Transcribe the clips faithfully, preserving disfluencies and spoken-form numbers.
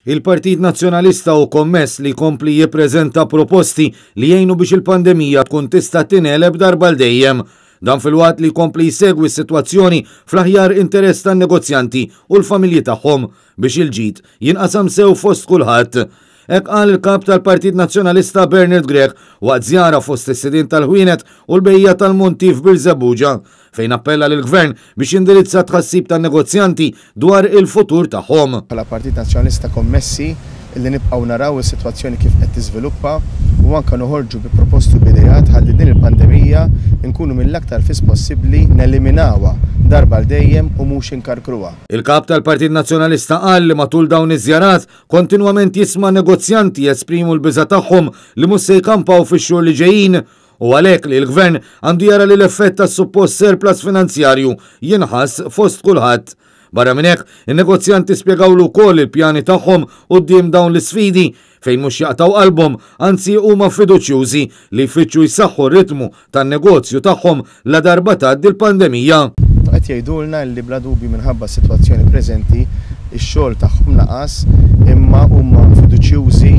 Il-Partit Nazzjonalista hu kommess li jkompli jippreżenta proposti li jgħinu biex il-pandemija tkun tista' tingħeleb darba għal dejjem. Dan filwaqt li jkompli jsegwi s-sitwazzjoni fl-aħjar interess tan-negozjanti u l-familji tagħhom biex il-ġid jinqasam sew fost kulħadd. Hekk qal il-Kap tal-Partit Nazzjonalista Bernard Grech waqt żjara fost is-sidien tal-ħwienet u l-bejjiegħa tal-monti f'Birżebbuġa, fejn appella lill-Gvern biex jindirizza t-tħassib tan-negozjanti dwar il-futur tagħhom. Bħala Partit Nazzjonalista kommessi li nibqgħu naraw is-sitwazzjoni kif qed tiżviluppa u anke noħorġu bi proposti u b'ideat ħalli din il-pandemija nkunu mill-aktar fis possibbli neliminawha darba għal dejjem u mhux inkarkruha. Il-Kap tal-Partit Nazzjonalista qal li matul dawn iż-żjarat kontinwament jisma' negozjanti jesprimu l-biża' tagħhom li mhux se jkampaw fix-xhur li ġejjin u għalhekk li l-Gvern għandu jara li l-effett tas-suppost surplus finanzjarju jinħass fost kulħadd. Barra minn hekk, in-negozjanti spjegawlu wkoll il-pjani tagħhom quddiem dawn l-isfidi fejn mhux jaqtgħu qalbhom, anzi huma fiduċjużi li jfittxu jsaħħu r-ritmu tan-negozju tagħhom la darba tgħaddi l-pandemija. Qed jgħidulna li bla dubju minħabba s-sitwazzjoni preżenti ix-xogħol tagħhom naqas, imma huma fiduċjużi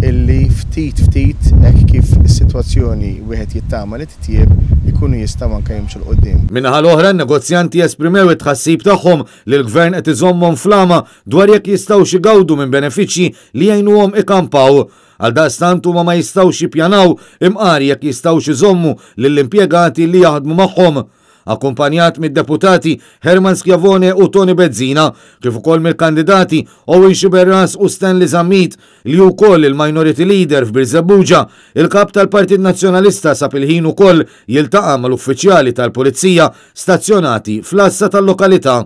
illi ftit ftit hekk kif is-sitwazzjoni wieħed jittama li titjieb ikunu jistgħu anke jimxu 'l quddiem. Min-naħa l-oħra, n-negozjanti esprimew it-tħassib tagħhom li l-Gvern qed iżommhom flama dwar jekk jistgħux igawdu minn benefiċċji li jgħinuhom ikampaw. Għaldaqstant huma ma jistgħux jippjanaw imqar jekk jistgħux iżommu lill-impjegati li jaħdmu magħhom. Akkumpanjat mid-deputati Herman Schiavone u Toni Bezzina, kif ukoll mill-kandidati Owen Sciberras u Stanley Zammit, li wkoll il-Minority Leader f'Birżebbuġa, il-Kap tal-Partit Nazzjonalista sab il-ħin ukoll jiltaqa' mal-uffiċjali tal-Pulizija stazzjonati fl-għassa tal-lokalità.